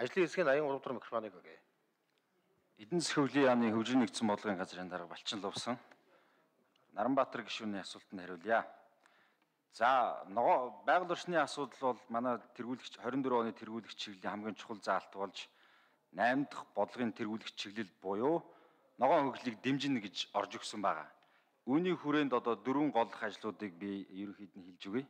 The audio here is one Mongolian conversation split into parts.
ажлын хэсгийн 83 дахь микрофоныг өгье. Эдийн засгийн хөгжлийн яамны хөгжлийн нэгдсэн бодлогын газрын дарга Балчин Лувсан. Наранбаатар гишүүний асуултанд хариулъя. За, байгаль орчны асуудал бол манай тэргүүлэгч 24 оны тэргүүлэгч чиглэлийн хамгийн чухал заалт болж 8 дахь бодлогын тэргүүлэгч чиглэл буюу ногоон хөгжлийг дэмжинэ гэж орж өгсөн байгаа. Үүний хүрээнд одоо 4 голлох ажлуудыг би ерөнхийд нь хэлж өгье.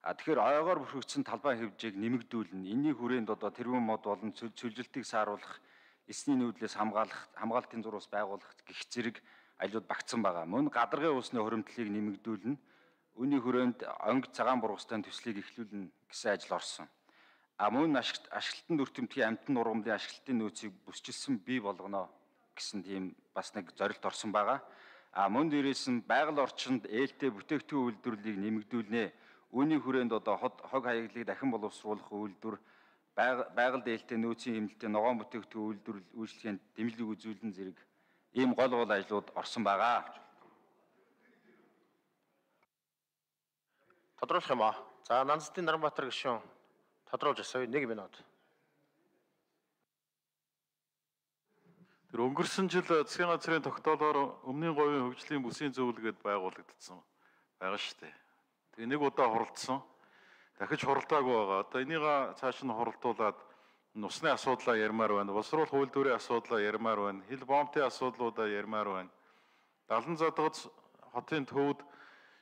Тэгэхээр ойгоор бүрхэгдсэн талбай хэмжээг нэмэгдүүлнэ. Энэний хүрээнд одоо тэргүүн мод болон цөлжилтийг сааруулах, эсний нүүдлээс хамгаалтын зурус байгуулах гэх зэрэг ажлууд багтсан байгаа. Мөн гадаргын усны хуримтлалыг нэмэгдүүлнэ. Үүний хүрээнд онг цагаан бургастай төслийг эхлүүлнэ гэсэн ажил орсон. Мөн ашиглалтын дүртэмтгий амтны нургамлын ашиглалтын нөөцийг бүсчилсэн бий болгоно гэсэн тийм бас нэг зорилт орсон байгаа. Мөн дээрээс нь байгаль орчинд ээлтэй бүтээгдэхүүн үйлдвэрлэлийг нэмэгдүүлнэ. Үүний хүрээнд одоо хог хаяглалыг дахин боловсруулах үйлдвэр, байгаль ээлтэй нөөцийн хэмнэлтийн ногоон бүтээгдэхүүн үйлдвэрлэл үйлчлэгээнд дэмжлэг үзүүлэн зэрэг ийм гол ажлууд орсон байгаа. Тодруулах юм аа. За, Нанцдын Наранбаатар гишүүн тодруулж асууя. 1 минут. Тэр өнгөрсөн жил засгийн газрын тогтоолоор өмнгийн говийн хөгжлийн бүсийн зөвлөгөөд байгуулагдсан байгаа шүү дээ. Тэгээ нэг удаа хуралдсан. Дахиж хуралдаагүй байгаа. Одоо энийг цааш нь хуралдуулаад нусны асуудлаа ярмаар байна. Боловсруулах үйлдвэрийн асуудлаа ярмаар байна. Хил бомбын асуудлуудаа ярмаар байна. Далан задгац хотын төвд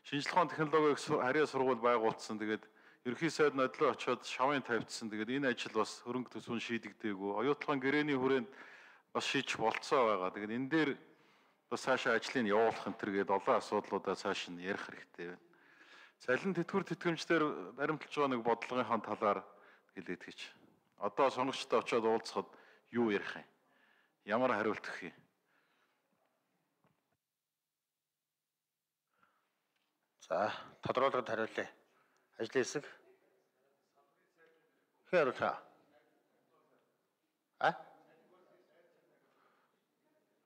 шинжлэх ухааны технологийн харьяа сургууль байгуулсан. Тэгээд ерөнхий сайд нодлоо очиод шавын тавьчихсан. Тэгээд энэ ажил бас хөрөнгө төсвөн шийдэгдээгүй. Оюутлогын гэрээний хүрээнд бас шийдэж болцоо байгаа. Тэгээд энэ дээр бас цаашаа ажлыг явуулах энэ төр гээд олон асуудлуудаа цааш нь ярих хэрэгтэй байна. Цалин тэтгэвэр тэтгэмжлэр баримталж байгаа нэг бодлогын талаар хэлээд гэж. Одоо сонгогчтой очиод уулзахад юу ярих юм? Ямар хариулт өгөх юм? За, тодруулгад хариулъя. Ажлын хэсэг. Хэн хариулах?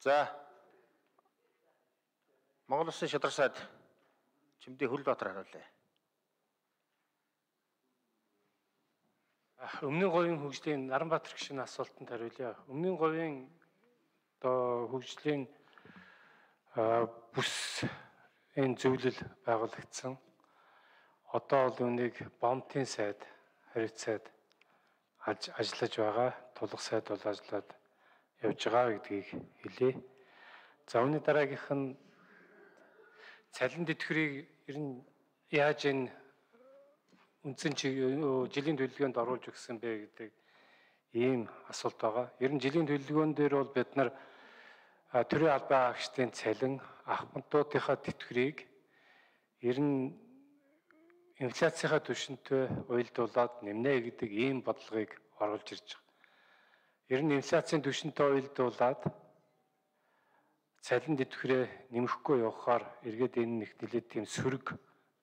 За. Монгол Улсын шадар сайд Чимдээ Хөлбаатар хариулъя. Өмнгийн говийн хөгжлийн Наранбаатар гишүүний асуултанд хариулъя. Өмнгийн говийн одоо хөгжлийн бүсийн зөвлөл байгуулагдсан. Одоо бол үүнийг бомтын сайд, хариуц сайд ажиллаж байгаа. Тулах сайд бол ажиллаад явж байгаа гэдгийг хэлье. За, үүний дараагийнх нь цалин тэтгэврийг ер нь яаж энэ үндсэн жилийн төлөвлөгөөнд оруулж өгсөн бэ гэдэг ийм асуулт байгаа. Ер нь жилийн төлөвлөгөөн дээр бол бид нар төрийн албан агчдын цалин, ахмадуудынхаа тэтгэврийг ер нь инфляцийнхаа түвшинтэй уялдуулаад нэмнэ гэдэг ийм бодлогыг оруулж ирж байгаа. Ер нь инфляцийн түвшинтэй уялдуулаад цалин тэтгэврээ нэмэхгүй явахаар эргээд энэ нэг нэлээд тийм сөрөг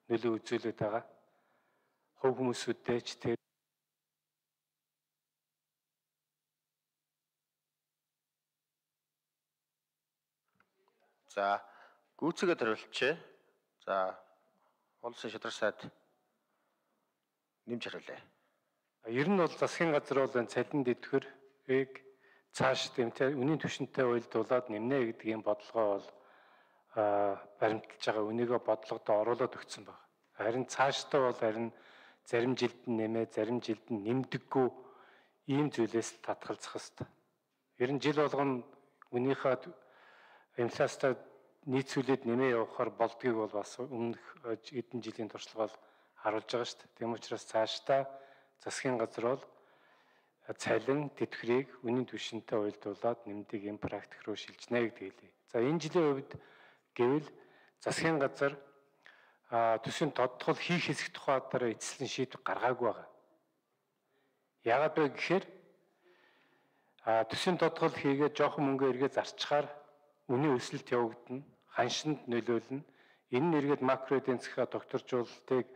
нөлөө үзүүлээд байгаа. Хувь хүмүүсүүдтэй ч тэр За, гүйцэтгэд хариулчихъя. За, Улсын шадар сайд нэмж хариулъя. Ер нь бол засгийн газар бол энэ цалин тэтгэврийг цааш үнийн түвшинтэй уялдуулаад нэмнэ гэдэг ийм бодлогоо бол баримталж байгаа. Үнийгээ бодлогодоо оруулаад өгсөн байна. Харин цаашдаа бол зарим жилд нь нэмээ, зарим жилд нь нэмдэггүй ийм зүйлээс татгалзах хэрэгтэй. Ер нь жил болгоно үнийхээ инфляцтай нийцүүлээд нэмээ явахаар болдгийг бол бас өмнөх эдэн жилийн туршлагаар харуулж байгаа шүү дээ. Тийм учраас цаашдаа засгийн газар бол цалин тэтгэврийг үнийн түвшинтэй уялдуулаад нэмдэг ийм практик руу шилжнэ гэдэг хэлье. За, энэ жилийн хувьд гэвэл засгийн газар төсвийн тодтгол хийх хэсэг тухай дараа эцэслэн шийдвэр гаргаагүй байгаа. Яагаад вэ гэхээр төсвийн тодтгол хийгээд жоохон мөнгө эргээ зарчхаар үнийн өсөлт явагдана, ханшинд нөлөөлнө. Энэ нь эргээд макро эдийн засгийн докторжуулалтыг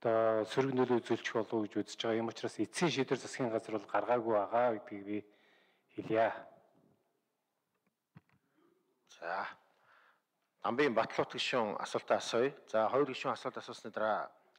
одоо сөрөг нөлөө үзүүлчих болов уу гэж үзэж байгаа. Ийм учраас эцсийн шийдвэр засгийн газар бол гаргаагүй байгаа гэдгийг би хэлье. За, Намбын Батлуут гишүүн асуултаа асууя. За, хоёр гишүүн асуулт асуусны дараа